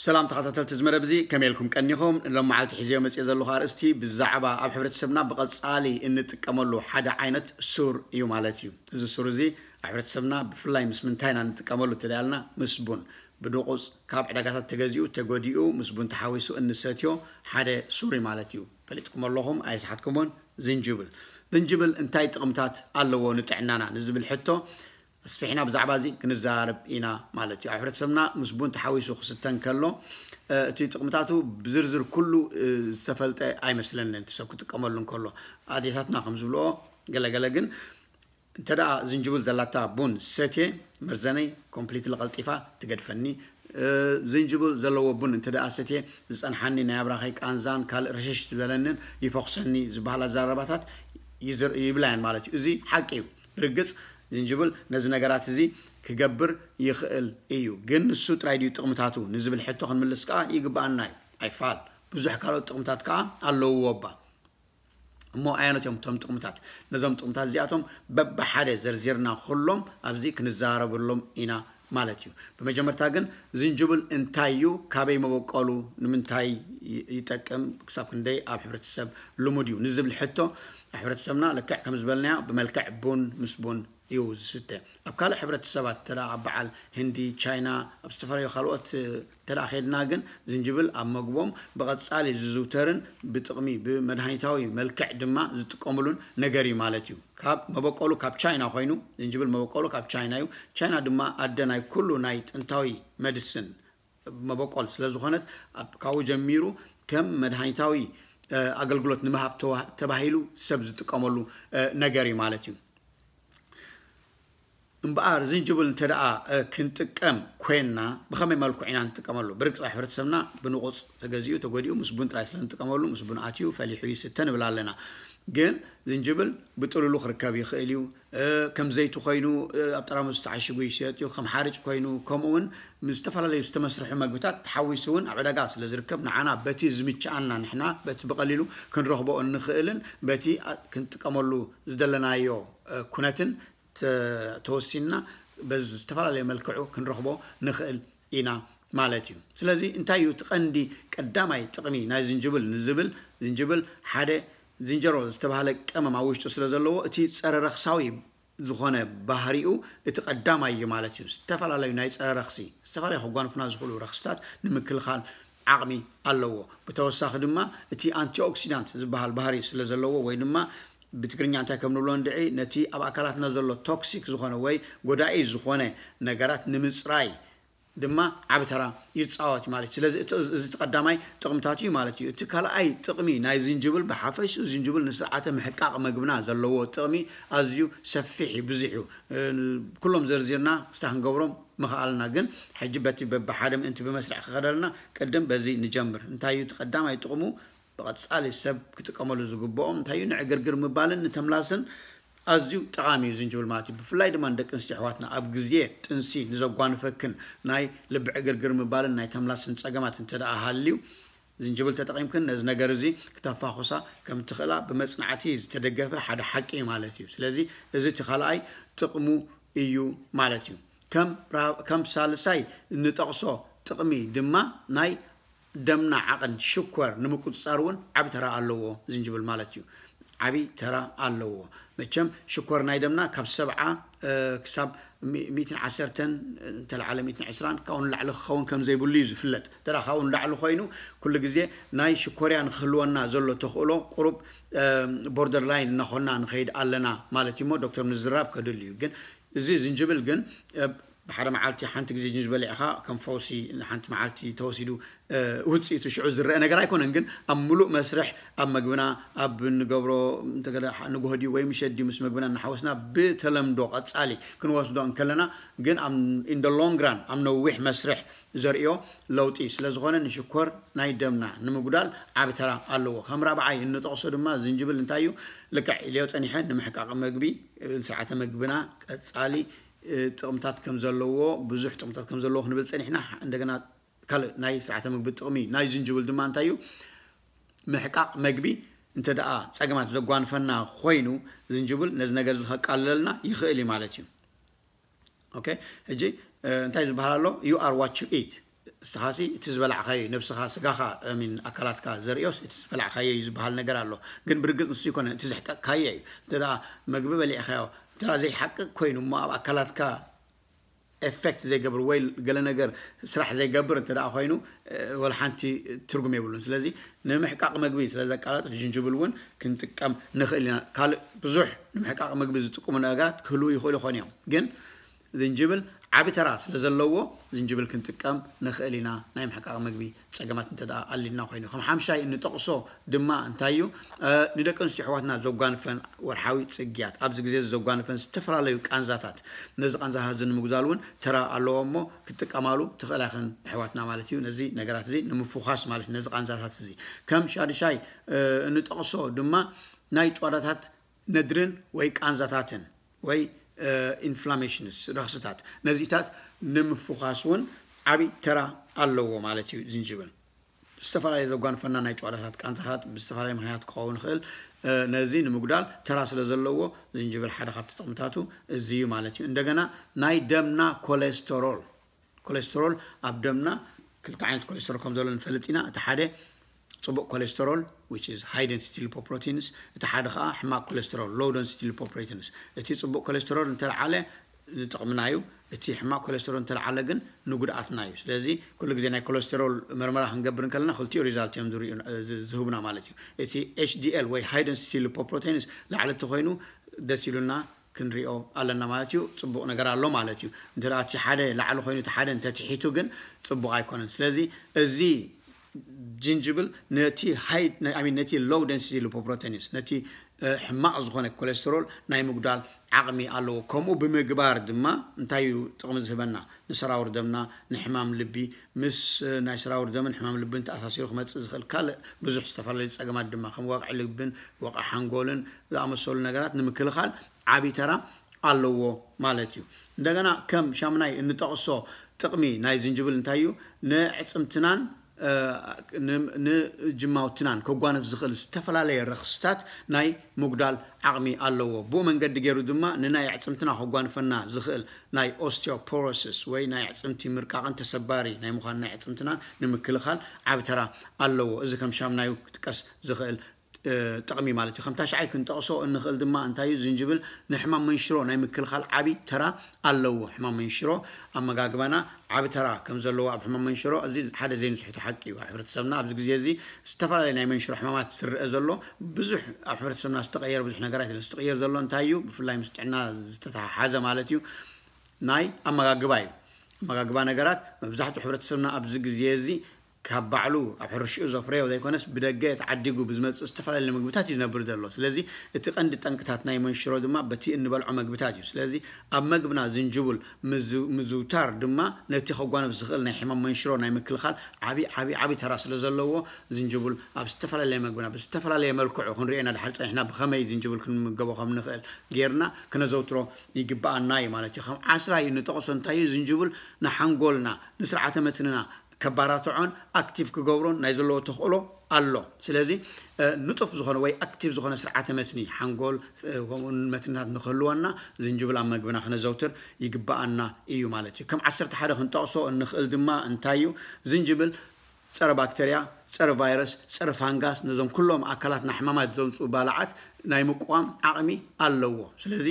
ሰላም ተኸታተልቲ እዚ መደብ እዚ፣ ከመይ ኢልኩም ቀኒኹም? ሎም መዓልቲ ሒዘዮ መፅእ ዘለኹ ኣርእስቲ ብዛዕባ ኣብ ሕብረተሰብና ብቐፃሊ እንጥቀመሉ ሓደ ዓይነት ሱር እዩ ማለት እዩ። እዚ ሱር እዚ ኣብ ሕብረተሰብና ብፍላይ ምስ ምንታይ ኢና እንጥቀመሉ እንተደኣልና፣ ምስ ቡን። ብድቑፅ ካብ ዕዳጋታት ተገዚኡ ተጎዲኡ ምስ ቡን ተሓዊሱ እንሰትዮ ሓደ ሱር እዩ ማለት እዩ። ፈሊጥኩም ኣለኹም ኣይስሓትኩምን። ዝንጅብል ዝንጅብል እንታይ ጥቕምታት ኣለዎ ንጥዕናና ንዝብል ሕቶ ኣስፊሕና ብዛዕባ እዚ ክንዘራረብ ኢና ማለት እዩ። ኣብ ሕብረተሰብና ምስ ቡን ተሓዊሱ ክስተ እንከሎ እቲ ጥቕምታቱ ብዝርዝር ኩሉ ዝተፈልጠ ኣይመስለንን፣ እቲ ሰብ ክጥቀመሉ እንከሎ። ኣዴታትና ከም ዝብልኦ፣ ገለገለ ግን እንተ ደኣ ዝንጅብል ዘላታ ቡን ሰትየ፣ መርዘነይ ኮምፕሊትሊ ቀልጢፋ ትገድፈኒ። ዝንጅብል ዘለዎ ቡን እንተ ደኣ ሰትየ፣ ዝጸንሓኒ ናይ ኣብራኸይ ቃንዛን ካልእ ረሸሽ ዝበለንን ይፈኹሰኒ ዝበሃላ ኣዘራርባታት ይብላ እየን ማለት እዩ። እዚ ሓቂ እዩ። ብርግጽ ዝንጅብል ነዚ ነገራት እዚ ክገብር ይኽእል እዩ። ግን ንሱ ጥራይ ድዩ ጥቕምታቱ ንዝብል ሕቶ ክንምልስ ከኣ ይግብኣና እዩ። ኣይፋል፣ ብዙሕ ካልኦት ጥቕምታት ከኣ ኣለውዎ እባ። እሞ ኣየኖት እዮም እቶም ጥቕምታት? ነዞም ጥቕምታት እዚኣቶም በብሓደ ዘርዚርና ኩሎም ኣብዚ ክንዘራረበሎም ኢና ማለት እዩ። ብመጀመርታ ግን ዝንጅብል እንታይ እዩ፣ ካበይ መበቆሉ፣ ንምንታይ ይጠቅም፣ ክሳብ ክንደይ ኣብ ሕብረተሰብ ልሙድ እዩ ንዝብል ሕቶ፣ ኣብ ሕብረተሰብና ልክዕ ከም ዝበልናዮ ብመልክዕ ቡን ምስ ቡን እዩ ዝስተ። ኣብ ካልእ ሕብረተሰባት እንተ ደኣ ኣብ በዓል ህንዲ፣ ቻይና፣ ኣብ ዝተፈላለዩ ካልኦት እንተ ደኣ ኸድና ግን ዝንጅብል ኣብ መግቦም ብቐጻሊ ዝዝውተርን ብጥቕሚ ብመድሃኒታዊ መልክዕ ድማ ዝጥቀምሉን ነገር እዩ ማለት እዩ። ካብ መበቆሉ ካብ ቻይና ኮይኑ፣ ዝንጅብል መበቆሉ ካብ ቻይና እዩ። ቻይና ድማ ኣደ ናይ ኩሉ ናይ ጥንታዊ መድስን መበቆል ስለ ዝኾነት፣ ካብኡ ጀሚሩ ከም መድሃኒታዊ ኣገልግሎት ንምሃብ ተባሂሉ ሰብ ዝጥቀመሉ ነገር እዩ ማለት እዩ። እምበኣር ዝንጅብል እንተ ደኣ ክንጥቀም ኮይንና ብኸመይ መልክዑ ኢና ንጥቀመሉ? ብርግጽ ኣብ ሕብረተሰብና ብንቑጽ ተገዚኡ ተጎዲኡ ምስ ቡን ጥራይ ስለ ንጥቀመሉ፣ ምስ ቡን ኣትዩ ፈሊሑ ይስተ ንብል ኣለና። ግን ዝንጅብል ብጥሉሉ ክርከብ ይኽእል እዩ። ከም ዘይቲ ኮይኑ ኣብ ጠራሙዝ ተዓሺጉ ይሸየጥ እዩ፣ ከም ሓርጭ ኮይኑ፣ ከምኡ እውን ምስ ዝተፈላለዩ ዝተመስርሑ መግብታት ተሓዊሱ እውን ኣብ ዕዳጋ ስለ ዝርከብ፣ ንዓና በቲ ዝምችኣና ንሕና በቲ ብቐሊሉ ክንረኽቦ እንኽእልን በቲ ክንጥቀመሉ ዝደለናዮ ኩነትን ተወሲንና በዚ ዝተፈላለየ መልክዑ ክንረኽቦ ንኽእል ኢና ማለት እዩ። ስለዚ እንታይ እዩ እቲ ቀንዲ ቀዳማይ ጥቕሚ ናይ ዝንጅብል ንዝብል፣ ዝንጅብል ሓደ ዝንጀሮ ዝተባህለ ቀመም ኣብ ውሽጡ ስለ ዘለዎ እቲ ጸረ ረኽሳዊ ዝኾነ ባህሪኡ እቲ ቀዳማይ እዩ ማለት እዩ። ዝተፈላለዩ ናይ ጸረ ረኽሲ፣ ዝተፈላለዩ ከጓንፉና ዝኽእሉ ረኽስታት ንምክልኻል ዓቕሚ ኣለዎ። ብተወሳኺ ድማ እቲ ኣንቲኦክሲዳንት ዝበሃል ባህሪ ስለ ዘለዎ ወይ ድማ ብትግርኛ እንታይ ከም ንብሎ እንድዒ፣ ነቲ ኣብ ኣካላትና ዘሎ ቶክሲክ ዝኾነ ወይ ጎዳኢ ዝኾነ ነገራት ንምጽራይ ድማ ዓቢ ተራ ይጻወት ማለት እዩ። ስለዚ እቲ ቀዳማይ ጥቕምታት እዩ ማለት እዩ። እቲ ካልኣይ ጥቕሚ ናይ ዝንጅብል ብሓፈሽኡ ዝንጅብል ንስርዓተ ምሕቃቕ መግብና ዘለዎ ጥቕሚ ኣዝዩ ሰፊሕ እዩ፣ ብዙሕ እዩ። ኩሎም ዘርዚርና ክስታ ክንገብሮም ምኽኣልና፣ ግን ሕጂ በቲ በብሓደ ምእንቲ ብመስርዕ ክኸደልና ቅድም በዚ ንጀምር። እንታይ እዩ እቲ ቀዳማይ ጥቕሙ? ብቐጻሊ ሰብ ክጥቀመሉ ዝግብኦም እንታይ እዩ? ንዕግርግር ምባልን ንተምላስን ኣዝዩ ጠቓሚ እዩ ዝንጅብል ማለት እዩ። ብፍላይ ድማ ንደቂ ኣንስትዮ ኣሕዋትና ኣብ ግዜ ጥንሲ ንዘጓንፈክን ናይ ልቢ ዕግርግር ምባልን ናይ ተምላስን ጸገማት እንተ ደኣ ሃልዩ፣ ዝንጅብል ተጠቒምክን ነዚ ነገር እዚ ክተፋኹሳ ከም ትኽእላ ብመጽናዕቲ ዝተደገፈ ሓደ ሓቂ እዩ ማለት እዩ። ስለዚ እዚ እቲ ካልኣይ ጥቕሙ እዩ ማለት እዩ። ከም ሳልሳይ እንጠቕሶ ጥቕሚ ድማ ናይ ደምና ዓቐን ሽኮር ንምቁጽጻር እውን ዓቢ ተራ ኣለዎ ዝንጅብል ማለት እዩ። ዓቢ ተራ ኣለዎ። መቸም ሽኮር ናይ ደምና ካብ ሰብዓ ክሳብ ሚእትን ዓሰርተን እንተለዓለ ሚእትን ዕስራን ካብኡ ንላዕሊ ክኸውን ከም ዘይብሉ እዩ ዝፍለጥ። እንተ ካብኡ ንላዕሊ ኮይኑ ኩሉ ግዜ ናይ ሽኮርያ ንክህልወና ዘሎ ተኽእሎ ቁሩብ ቦርደር ላይን እናኾንና ንኸይድ ኣለና ማለት እዩ። እሞ ዶክተር ምዝራብ ከድሉ እዩ። ግን እዚ ዝንጅብል ግን ብሓደ መዓልቲ ሓንቲ ግዜ ጅንጅብል ኢኻ ከም ፈውሲ ንሓንቲ መዓልቲ ተወሲዱ ውፅኢቱ ሽዑ ዝረአ ነገር ኣይኮነን። ግን ኣብ ምሉእ መስርሕ ኣብ መግብና ኣብ ንገብሮ ንጎህዲ ወይ ምሸዲ ምስ መግብና እናሓወስና ብተለምዶ ቀፃሊ ክንወስዶ እንከለና ግን in the long run ኣብ ነዊሕ መስርሕ ዘርእዮ ለውጢ ስለ ዝኾነ ንሽኮር ናይ ደምና ንምጉዳል ዓቢ ተራ ኣለዎ። ከም ራብዓይ እንጠቕሶ ድማ ዝንጅብል እንታይ እዩ? ልክዕ ኢልዮ ፀኒሐ ንምሕቃቕ መግቢ ስርዓተ መግብና ቀፃሊ ጥቕምታት ከም ዘለዎ ብዙሕ ጥቕምታት ከም ዘለዎ ክንብል ፀኒሕና እንደገና ካልእ ናይ ስርዓተ ምግቢ ጥቕሚ ናይ ዝንጅብል ድማ እንታይ እዩ? ምሕቃቕ መግቢ እንተ ደኣ ጸገማት ዘጓንፈና ኮይኑ ዝንጅብል ነዚ ነገር እዚ ከቃልለልና ይኽእል እዩ ማለት እዩ። ኦኬ፣ ሕጂ እንታይ ዝበሃል ኣሎ? You are what you eat። እስኻሲ እቲ ዝበላዕካዮ ነብስኻ፣ ስጋኻ፣ ሚን ኣካላትካ ዘርእዮስ እቲ ዝበላዕካዮ እዩ ዝበሃል ነገር ኣሎ። ግን ብርግጽ ንሱ ይኮነ እቲ ዘሕቀቅካዮ እዩ። እንተ ደኣ መግቢ በሊዕካዮ፣ እንተ ደኣ ዘይሓቅቅ ኮይኑ እሞ ኣብ ኣካላትካ ኤፌክት ዘይገብር ወይ ገለ ነገር ስራሕ ዘይገብር እንተ ደኣ ኮይኑ፣ እ፣ ወላ ሓንቲ ትርጉም የብሉን። ስለዚ ንምሕቃቕ መግቢ ስለ ዘቃላጥፍ ዝንጅብል እውን ክንጥቀም ንኽእል ኢና። ካልእ ብዙሕ ንምሕቃቕ መግቢ ዝጥቀሙ ነገራት ክህልዉ ይኽእሉ ይኾኑ እዮም። ግን ዝንጅብል ዓቢ ተራ ስለ ዘለዎ ዝንጅብል ክንጥቀም ንኽእል ኢና። ናይ ምሕቃቕ መግቢ ጸገማት እንተ ደኣ ኣሊልና ኮይኑ፣ ከም ሓምሻይ እንጠቕሶ ድማ እንታይ እዩ? እ፣ ንደቂ ኣንስትዮ ኣሕዋትና ዘጓንፈን ወርሓዊ ጽግያት፣ ኣብዚ ግዜ ዘጓንፈን ዝተፈላለዩ ቃንዛታት፣ ነዚ ቃንዛታት እዚ ንምጉዳል እውን ተራ ኣለዎ እሞ ክትጥቀማሉ ትኽእላ ኢኽን ኣሕዋትና ማለት እዩ። ነዚ ነገራት እዚ ንምፍዃስ ማለት እዩ፣ ነዚ ቃንዛታት እዚ። ከም ሻድሻይ፣ እ፣ እንጠቕሶ ድማ ናይ ጭዋዳታት ነድርን ወይ ቃንዛታትን ወይ፣ እ፣ ኢንፍላሜሽንስ፣ ረኽስታት፣ ነዚታት ንምፍዃስ እውን ዓቢ ተራ ኣለዎ ማለት እዩ ዝንጅብል። ዝተፈላለዩ ዘጓንፈና ናይ ጨዋዳታት ቃንዛታት ብዝተፈላለየ ምኽንያት ክኸውን ይኽእል። እ፣ ነዚ ንምጉዳል ተራ ስለ ዘለዎ ዝንጅብል ሓደ ካብቲ ጥቕምታቱ እዚ እዩ ማለት እዩ። እንደገና ናይ ደምና ኮሌስተሮል፣ ኮሌስተሮል ኣብ ደምና ክልተ ዓይነት ኮሌስተሮል ከም ዘሎ ንፈልጥ ኢና። እቲ ሓደ ጽቡቕ ኮሌስተሮል፣ which is high density lipoproteins፣ እቲ ሓደ ከዓ ሕማቕ ኮሌስተሮል፣ low density lipoproteins። እቲ ጽቡቕ ኮሌስተሮል እንተልዓለ ንጥቕምና እዩ፣ እቲ ሕማቕ ኮሌስተሮል እንተልዓለ ግን ንጉድኣትና እዩ። ስለዚ ኩሉ ግዜ ናይ ኮሌስተሮል መርመራ ክንገብር እንከለና ክልቲኡ ሪዛልት እዮም ዝርእዩ፣ ዝ-፣ ዝህቡና ማለት እዩ። እቲ ኤች ዲ ኤል ወይ high density lipoproteins ላዕሊ እንተኮይኑ ደስ ኢሉና ክንሪኦ ኣለና ማለት እዩ። ጽቡቕ ነገር ኣሎ ማለት እዩ። እንተ ደኣ እቲ ሓደ ላዕሊ ኮይኑ እቲ ሓደ እንተትሒቱ ግን ጽቡቕ ኣይኮነን። ስለዚ እዚ ጅንጅብል ነቲ ሃይ፣ I mean፣ ነቲ low density lipoproteins፣ ነቲ፣ እ፣ ሕማቕ ዝኾነ ኮሌስተሮል ናይ ምጉዳል ዓቕሚ ኣለዎ። ከምኡ ብምግባር ድማ እንታይ እዩ ጥቕሚ ዝህበና? ንሰራውር ደምና፣ ንሕማም ልቢ፣ ምስ፣ እ፣ ናይ ሰራውር ደምን ሕማም ልብን ተኣሳሲሩ ክመጽእ ዝኽእል ካልእ ብዙሕ ዝተፈላለዩ ጸገማት ድማ ከም ወቕዒ ልብን ወቕዒ ሓንጎልን ዝኣመሰሉ ነገራት ንምክልኻል ዓቢ ተራ ኣለዎ ማለት እዩ። እንደገና ከም ሻምናይ እንጠቕሶ ጥቕሚ ናይ ዝንጅብል እንታይ እዩ? ንዕጽምትናን፣ እ፣ ን-፣ ንጅማውትናን ከጓንፍ ዝኽእል ዝተፈላለየ ረኽስታት ናይ ምጉዳል ዓቕሚ ኣለዎ። ብኡ መንገዲ ገይሩ ድማ ንናይ ኣዕጽምትና ከጓንፈና ዝኽእል ናይ ኦስቲዮፖሮሲስ ወይ ናይ ኣዕጽምቲ ምርቃቕን ተሰባሪ ናይ ምዃን ናይ ኣዕጽምትናን ንምክልኻል ዓቢ ተራ ኣለዎ። እዚ ከም ሻምናዩ ክጥቀስ ዝኽእል እ፣ ጥቕሚ ማለት እዩ። ከም ታሽዓይ ክንጠቕሶ እንኽእል ድማ እንታይ እዩ? ዝንጅብል ንሕማም መንሽሮ ናይ ምክልኻል ዓቢ ተራ ኣለዎ። ሕማም መንሽሮ ኣመጋግባና ዓቢ ተራ ከም ዘለዎ ኣብ ሕማም መንሽሮ እዚ ሓደ ዘይንስሕቶ ሓቂ እዩ። ኣብ ሕብረተሰብና ኣብዚ ግዜ እዚ ዝተፈላለየ ናይ መንሽሮ ሕማማት ዝረአ ዘሎ ብዙሕ፣ ኣብ ሕብረተሰብና ዝተቐየረ ብዙሕ ነገራት የለን። ዝትቕየር ዘሎ እንታይ እዩ? ብፍላይ ምስ ጥዕና ዝተተሓሓዘ ማለት እዩ። ናይ ኣመጋግባ እዩ። ኣመጋግባ ነገራት መብዛሕትኡ ሕብረተሰብና ኣብዚ ግዜ እዚ ካብ ባዕሉ ኣብ ሕርሽኡ ዘፍረዮ ዘይኮነስ ብደገ ተዓዲጉ ብዝመጽእ ዝተፈላለዩ ምግብታት እዩ ዝነብር ዘሎ። ስለዚ እቲ ቀንዲ ጠንቅታት ናይ መንሽሮ ድማ በቲ እንበልዖ መግብታት እዩ። ስለዚ ኣብ መግብና ዝንጅብል ምዝ-፣ ምዝውታር ድማ ነቲ ከጓንፍ ዝኽእል ናይ ሕማም መንሽሮ ናይ ምክልኻል ዓቢ፣ ዓቢ፣ ዓቢ ተራ ስለ ዘለዎ ዝንጅብል ኣብ ዝተፈላለየ መግብና ብዝተፈላለየ መልክዑ ክንሪኦ ኢና። ድሓር ጸኒሕና ብኸመይ ዝንጅብል ክንምገቦ ከም ንኽእል ጌርና ክነዘውትሮ ይግብኣና እዩ ማለት እዩ። ከም ዓስራይ እንጠቕሶ እንታይ እዩ? ዝንጅብል ንሓንጎልና፣ ንስርዓተ መትንና ከባራትዖን ኣክቲቭ ክገብሮን ናይ ዘለዎ ተኽእሎ ኣሎ። ስለዚ፣ እ፣ ንጡፍ ዝኾነ ወይ ኣክቲቭ ዝኾነ ስርዓተ መትኒ ሓንጎል፣ እ፣ ከምኡ እውን መትንታት ንክህልወና ዝንጅብል ኣብ መግብና ክነዘውትር ይግብኣና እዩ ማለት እዩ። ከም ዓሰርተ ሓደ ክንጠቕሶ እንኽእል ድማ እንታይ እዩ? ዝንጅብል ጸረ ባክተርያ፣ ጸረ ቫይረስ፣ ጸረ ፋንጋስ፣ ነዞም ኩሎም ኣካላትና ሕማማት ዘምጽኡ ባልዓት ናይ ምቅዋም ዓቕሚ ኣለዎ። ስለዚ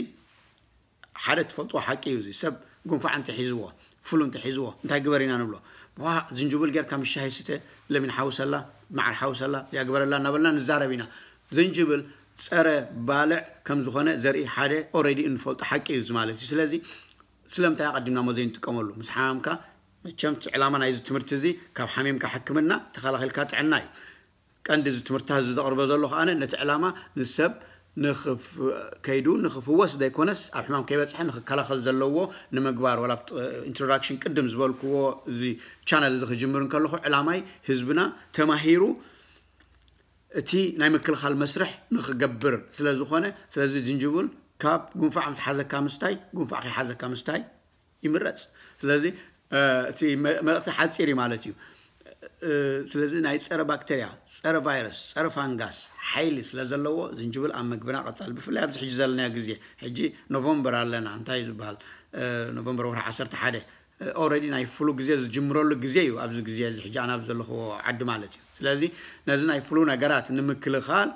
ሓደ ትፈልጥዎ ሓቂ እዩ። እዚ ሰብ ጉንፋዕ እንተሒዝዎ፣ ፍሉ እንተሒዝዎ፣ እንታይ ግበር ኢና ንብሎ? ዋ፣ ዝንጅብል ጌርካ ምስ ሻሂ ስተ፣ ለሚን ሓውሰላ፣ መዓር ሓውሰላ፣ ያግበረላ እናበልና ንዛረብ ኢና። ዝንጅብል ጸረ ባልዕ ከም ዝኾነ ዘርኢ ሓደ ኦልሬዲ እንፈልጦ ሓቂ እዩ እዚ ማለት እዩ። ስለዚ ስለምንታይ ኣቐዲምና እሞ ዘይንጥቀመሉ? ምስ ሓመምካ፣ መቸም እቲ ዕላማ ናይዚ ትምህርቲ እዚ ካብ ሓሚምካ ሕክምና ተኸላኺልካ ጥዕና እዩ። ቀንዲ እዚ ትምህርትታት እዚ ዘቕርቦ ዘለኹ ኣነ ነቲ ዕላማ ንሰብ ንኽፍ-፣ ከይዱ ንኽፍወስ ዘይኮነስ ኣብ ሕማም ከይበጽሐ ንኽከላኸል ዘለዎ ንምግባር፣ ዋላ ኣብቲ ኢንትሮዳክሽን ቅድም ዝበልክዎ እዚ ቻነል እዚ ክጅምር እንከለኹ ዕላማይ ህዝብና ተማሂሩ እቲ ናይ ምክልኻል መስርሕ ንኽገብር ስለ ዝኾነ፣ ስለዚ ዝንጅብል ካብ ጉንፋዕ ምስ ሓዘካ ምስታይ፣ ጉንፋዕ ከይሓዘካ ምስታይ ይምረጽ። ስለዚ፣ እ፣ እቲ መ-፣ መልእኽቲ ሓጺር እዩ ማለት እዩ። እ፣ ስለዚ ናይ ጸረ ባክተርያ፣ ጸረ ቫይረስ፣ ጸረ ፋንጋስ ሓይሊ ስለ ዘለዎ ዝንጅብል ኣብ መግብና ቀጻሊ፣ ብፍላይ ኣብዚ ሕጂ ዘለናዮ ግዜ፣ ሕጂ ኖቨምበር ኣለና፣ እንታይ እዩ ዝበሃል? እ፣ ኖቨምበር ወርሒ ዓሰርተ ሓደ፣ ኦረዲ ናይ ፍሉ ግዜ ዝጅምረሉ ግዜ እዩ። ኣብዚ ግዜ እዚ ሕጂ ኣነ ኣብ ዘለኽዎ ዓዲ ማለት እዩ። ስለዚ ነዚ ናይ ፍሉ ነገራት ንምክልኻል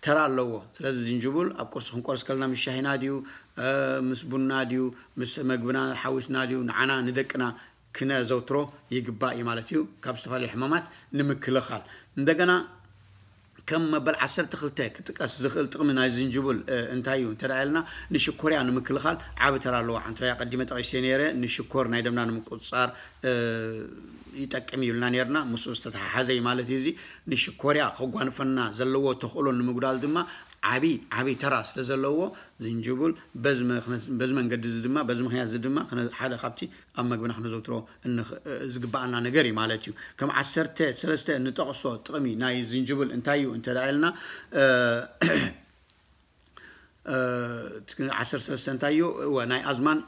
ተራ ኣለዎ። ስለዚ ዝንጅብል ኣብ ቁርሲ ክንቆርስ ከለና ምስ ሻሂና ድዩ፣ ምስ ቡና ድዩ፣ ምስ መግብና ሓዊስና ድዩ፣ ንዓና ንደቅና ክነዘውትሮ ይግባእ እዩ ማለት እዩ። ካብ ዝተፈላለዩ ሕማማት ንምክልኻል። እንደገና ከም መበል ዓሰርተ ክልተ ክጥቀስ ዝኽእል ጥቕሚ ናይ ዝንጅብል እንታይ እዩ እንተ ኢልና፣ ንሽኮርያ ንምክልኻል ዓቢ ተራ ኣለዎ። ሓንቲ ኣቀዲመ ጠቒሰ ነይረ፣ ንሽኮር ናይ ደምና ንምቁጽጻር ይጠቅም ይብልና ነርና። ምስኡ ዝተተሓሓዘ እዩ ማለት እዩ። እዚ ንሽኮርያ ከጓንፈና ዘለዎ ተኽእሎ ንምጉዳል ድማ ዓቢ ዓቢ ተራ ስለ ዘለዎ ዝንጅብል በዚ መንገዲ እዚ ድማ፣ በዚ ምክንያት እዚ ድማ ሓደ ካብቲ ኣብ መግብና ክነዘውትሮ ዝግባኣና ነገር እዩ ማለት እዩ። ከም ዓሰርተ ሰለስተ እንጠቕሶ ጥቕሚ ናይ ዝንጅብል እንታይ እዩ እንተ ኢልና፣ ዓሰርተ ሰለስተ እንታይ እዩ? እወ፣ ናይ ኣዝማን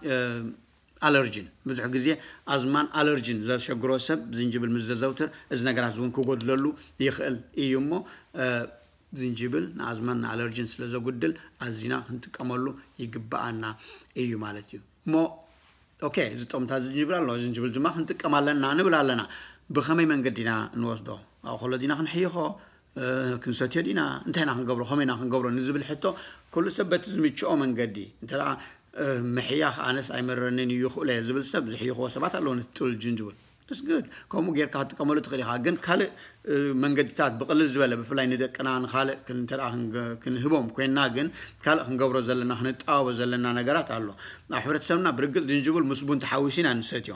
ኣለርጂን። ብዙሕ ግዜ ኣዝማን ኣለርጂን ዘሸግሮ ሰብ ዝንጅብል ምስ ዘዘውትር እዚ ነገራት እውን ክጎድለሉ ይኽእል እዩ እሞ ዝንጅብል ንኣዝማን ንኣለርጂን ስለ ዘጉድል ኣዚና ክንጥቀመሉ ይግባኣና እዩ ማለት እዩ። እሞ ኦኬ፣ እዚ ጠቕምታት ዝንጅብል ኣሎ፣ ዝንጅብል ድማ ክንጥቀም ኣለና ንብል ኣለና። ብኸመይ መንገዲ ኢና እንወስዶ? ኣብ ኮሎ ዲና ክንሕይኾ፣ ክንሰትዮ ዲና፣ እንታይ ኢና ክንገብሮ፣ ከመይ ኢና ክንገብሮ ንዝብል ሕቶ ኩሉ ሰብ በቲ ዝምችኦ መንገዲ እንተ ምሕያኽ ኣነስ ኣይመረንን እዩ ይኽእሎ እየ ዝብል ሰብ ዝሕይኽዎ ሰባት ኣለዉ። ነቲ ጥሉል ዝንጅብል እስግድ ከምኡ ጌርካ ክትጥቀመሉ ትኽእል ኢኻ። ግን ካልእ መንገድታት ብቕልል ዝበለ ብፍላይ ንደቅና ንኻልእ እንተ ክንህቦም ኮይንና ግን ካልእ ክንገብሮ ዘለና ክንጣበቦ ዘለና ነገራት ኣሎ። ኣብ ሕብረተሰብና ብርግፅ ዝንጅብል ምስ ቡን ተሓዊሱ ኢና ንሰትዮ።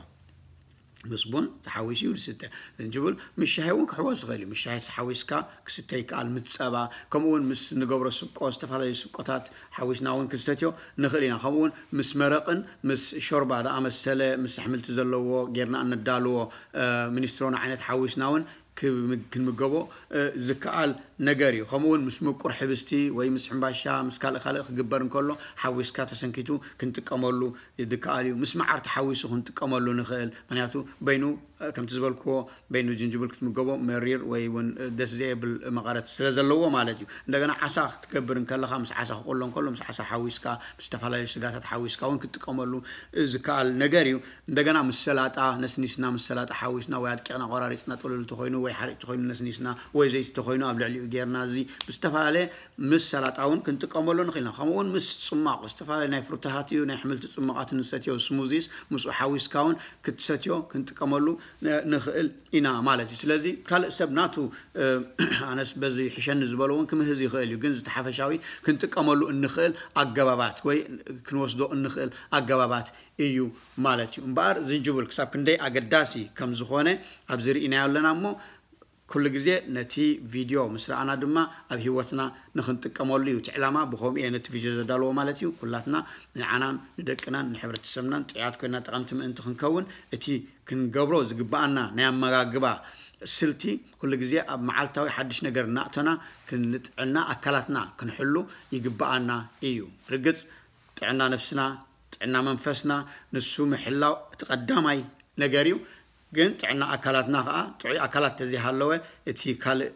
ምስ ቡን ተሓዊሱ እዩ ዝስተ። ዝንጅብል ምስ ሻሂ እውን ክሕወስ ይኽእል እዩ። ምስ ሻሂ ተሓዊስካ ክስተ ይከኣል፣ ምስ ፀባ ከምኡ እውን ምስ ንገብሮ ስብቆ፣ ዝተፈላለዩ ስብቆታት ሓዊስና እውን ክንሰትዮ ንኽእል ኢና። ከምኡ እውን ምስ መረቕን ምስ ሾርባ ዝኣመሰለ ምስ ኣሕምልቲ ዘለዎ ጌርና እነዳልዎ ሚኒስትሮን ዓይነት ሓዊስና እውን ክንምገቦ ዝከኣል ነገር እዩ። ከምኡ እውን ምስ ምቁር ሕብስቲ ወይ ምስ ሕምባሻ ምስ ካልእ ካልእ ክግበር እንከሎ ሓዊስካ ተሰንኪቱ ክንጥቀመሉ ዝከኣል እዩ። ምስ መዓር ተሓዊሱ ክንጥቀመሉ ንኽእል። ምክንያቱ በይኑ ከምቲ ዝበልክዎ በይኑ ዝንጅብል ክትምገቦ መሪር ወይ እውን ደስ ዘየብል መቐረት ስለ ዘለዎ ማለት እዩ። እንደገና ዓሳ ክትገብር እንከለኻ ምስ ዓሳ ክቆሎ እንከሎ ምስ ዓሳ ሓዊስካ ምስ ዝተፈላለዩ ስጋታት ሓዊስካ እውን ክትጥቀመሉ ዝከኣል ነገር እዩ። እንደገና ምስ ሰላጣ ነስኒስና ምስ ሰላጣ ሓዊስና ወይ ኣድቂቕና ቆራሪፅና ጥሉል እንተኮይኑ ወይ ሓሪጭ ተኮይኑ ነስኒስና ወይ ዘይቲ ተኮይኑ ኣብ ልዕሊኡ ጌርና እዚ ብዝተፈላለየ ምስ ሰላጣ እውን ክንጥቀመሉ ንኽእል ኢና። ከምኡ እውን ምስ ፅማቕ ዝተፈላለዩ ናይ ፍሩታታት እዩ ናይ ኣሕምልቲ ፅማቓት ንሰትዮ ስሙዚስ ምስኡ ሓዊስካ እውን ክትሰትዮ ክንጥቀመሉ ንኽእል ኢና ማለት እዩ። ስለዚ ካልእ ሰብ ናቱ ኣነስ በዚ ይሕሸኒ ዝበሎ እውን ክምህዝ ይኽእል እዩ። ግን ዝተሓፈሻዊ ክንጥቀመሉ እንኽእል ኣገባባት ወይ ክንወስዶ እንኽእል ኣገባባት እዩ ማለት እዩ። እምበኣር ዝንጅብል ክሳብ ክንደይ ኣገዳሲ ከም ዝኾነ ኣብዚ ርኢናዮ ኣለና እሞ ኩሉ ግዜ ነቲ ቪድዮ ምስ ረኣና ድማ ኣብ ህይወትና ንኽንጥቀመሉ እዩ እቲ ዕላማ። ብኸምኡ እየ ነቲ ቪድዮ ዘዳልዎ ማለት እዩ። ኩላትና ንዓናን ንደቅናን ንሕብረተሰብናን ጥዑያት ኮይና ጠቐምቲ ምእንቲ ክንከውን እቲ ክንገብሮ ዝግባኣና ናይ ኣመጋግባ ስልቲ ኩሉ ግዜ ኣብ መዓልታዊ ሓድሽ ነገር እናእተና ክንጥዕና ኣካላትና ክንሕሉ ይግባኣና እዩ። ርግጽ ጥዕና ነፍስና ጥዕና መንፈስና ንሱ ምሕላው እቲ ቀዳማይ ነገር እዩ። ግን ጥዕና ኣካላትና ከዓ ጥዑይ ኣካላት ተዘይሃለወ እቲ ካልእ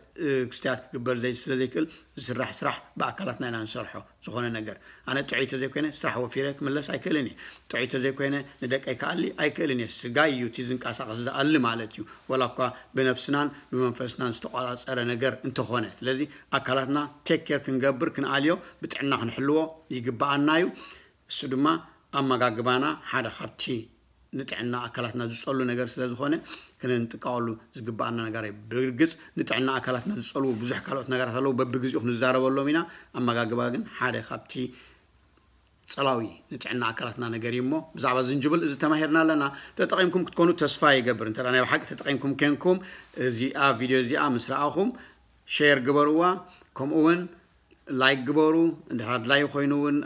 ክስተያት ክግበር ዘይ ስለ ዘይክእል ዝስራሕ ስራሕ ብኣካላትና ኢና ንሰርሖ። ዝኾነ ነገር ኣነ ጥዑይ ተዘይኮይነ ስራሕ ወፊረ ክምለስ ኣይክእልን እየ። ጥዑይ ተዘይኮይነ ንደቀይ ክኣሊ ኣይክእልን እየ። ስጋ እዩ እቲ ዝንቀሳቐስ ዝኣሊ ማለት እዩ። ወላ እኳ ብነፍስናን ብመንፈስናን ዝተቋጻጸረ ነገር እንተኾነ። ስለዚ ኣካላትና ቴክ ኬር ክንገብር ክንኣልዮ ብጥዕና ክንሕልዎ ይግባኣና እዩ። እሱ ድማ ኣመጋግባና ሓደ ካብቲ ንጥዕና ኣካላትና ዝጸሉ ነገር ስለ ዝኾነ ክንጥቀቐሉ ዝግባኣና ነገር እዩ። ብርግጽ ንጥዕና ኣካላትና ዝጸልዉ ብዙሕ ካልኦት ነገራት ኣለዉ፣ በብግዜኡ ክንዛረበሎም ኢና። ኣመጋግባ ግን ሓደ ካብቲ ጸላዊ ንጥዕና ኣካላትና ነገር እዩ እሞ ብዛዕባ ዝንጅብል እዚ ተማሂርና ኣለና። ተጠቒምኩም ክትኮኑ ተስፋ ይገብር። እንተ ናይ ብሓቂ ተጠቒምኩም ኮንኩም እዚኣ ቪድዮ እዚኣ ምስ ረኣኹም ሼር ግበርዋ፣ ከምኡ እውን ላይክ ግበሩ። እንድሕር ኣድላዩ ኮይኑ እውን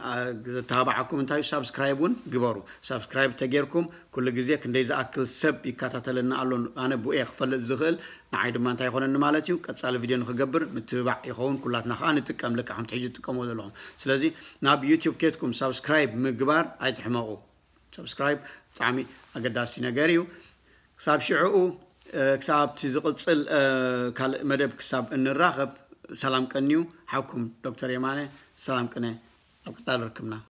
ዘተባብዓኩም እንታይ ሳብስክራይብ እውን ግበሩ። ሳብስክራይብ ተጌርኩም ኩሉ ግዜ ክንደይ ዝኣክል ሰብ ይከታተለና ኣሎ ኣነ ብኡ እየ ክፈልጥ ዝኽእል። ንዓይ ድማ እንታይ ይኾነኒ ማለት እዩ ቀፃሊ ቪድዮ ንክገብር ምትብባዕ ይኸውን። ኩላትና ከዓ ንጥቀም ልክዕ ከምቲ ሕጂ ትጥቀምዎ ዘለኹም። ስለዚ ናብ ዩቲዩብ ኬድኩም ሳብስክራይብ ምግባር ኣይትሕመቑ። ሳብስክራይብ ብጣዕሚ ኣገዳሲ ነገር እዩ። ክሳብ ሽዕኡ ክሳብ እቲ ዝቕፅል ካልእ መደብ ክሳብ እንራኸብ ሰላም ቀንዩ። ሓውኩም ዶክተር የማነ ሰላም ቅነ። ኣብ ቀፃሊ ርክብና።